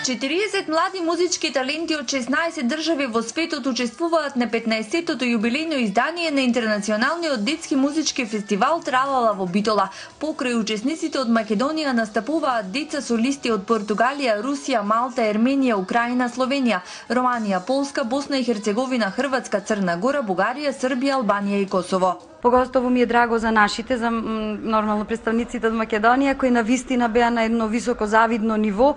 40 млади музички таленти од 16 држави во светот учествуваат на 15-тото јубилејно издание на Интернационалниот детски музички фестивал Тралала во Битола. Покрај учесниците од Македонија настапуваат деца солисти од Португалија, Русија, Малта, Ерменија, Украина, Словенија, Романија, Полска, Босна и Херцеговина, Хрватска, Црна Гора, Бугарија, Србија, Албанија и Косово. Поготово ми е драго за нашите, за нормално представниците од Македонија, кои навистина беа на едно високо завидно ниво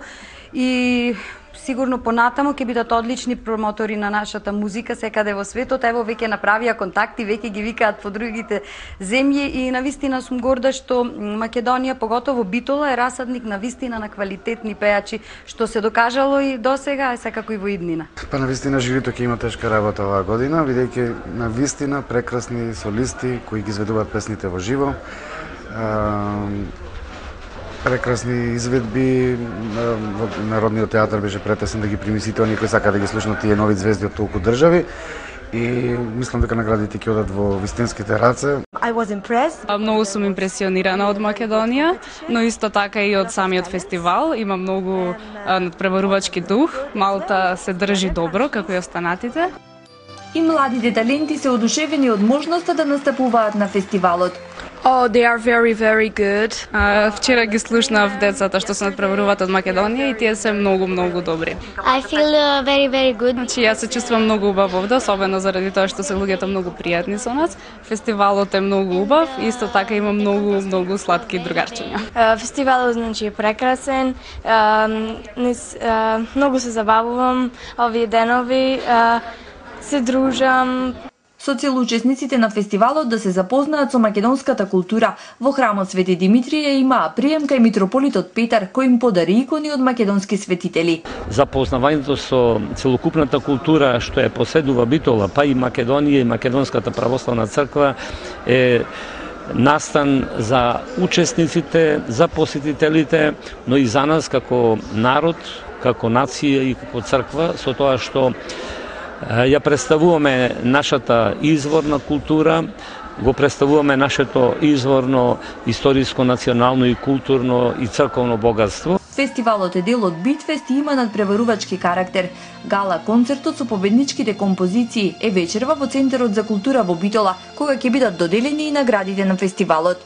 и сигурно понатамо ќе бидат одлични промотори на нашата музика секаде во светот. Ево веќе направија контакти, веќе ги викаат по другите земји и навистина сум горда што Македонија, поготово Битола, е расадник навистина на квалитетни пејачи, што се докажало и досега, а секако и во иднина. Па навистина жирито ќе има тешка работа оваа година, бидејќи навистина прекрасни солисти кои ги изведуваат песните во живо. Прекрасни изведби, во Народниот театар беше претесен да ги прими сите оние кои сака да ги слушнат тие нови звезди од толку држави и мислам дека наградите ќе одат во вистинските раце. Многу сум импресионирана од Македонија, но исто така и од самиот фестивал. Има многу надпреварувачки дух. Малта се држи добро, како и останатите. И младите таленти се одушевени од можноста да настапуваат на фестивалот. Oh, they are very, very good. Вчера ги слушнав децата што се надпреваруваат од Македонија и тие се многу добри. I feel very, very good. Значи, јас се чувствувам многу убав овде, особено заради тоа што се луѓето многу пријатни со нас. Фестивалот е многу убав, исто така има многу сладки другарчиња. Фестивалот значи е прекрасен. Многу се забавувам овие денови. Се дружам. Со цел учесниците на фестивалот да се запознаат со македонската култура, во храмот Свети Димитрија имаа приемка и митрополитот Петар, кој им подари икони од македонски светители. Запознавањето со целокупната култура што е поседува Битола, па и Македонија и Македонската православна црква е настан за учесниците, за посетителите, но и за нас како народ, како нација и како црква, со тоа што ја представуваме нашата изворна култура, го представуваме нашето изворно, историско, национално и културно и црковно богатство. Фестивалот е дел од Битфест и има надпреварувачки карактер. Гала концертот со победничките композиции е вечерва во Центарот за култура во Битола, кога ќе бидат доделени и наградите на фестивалот.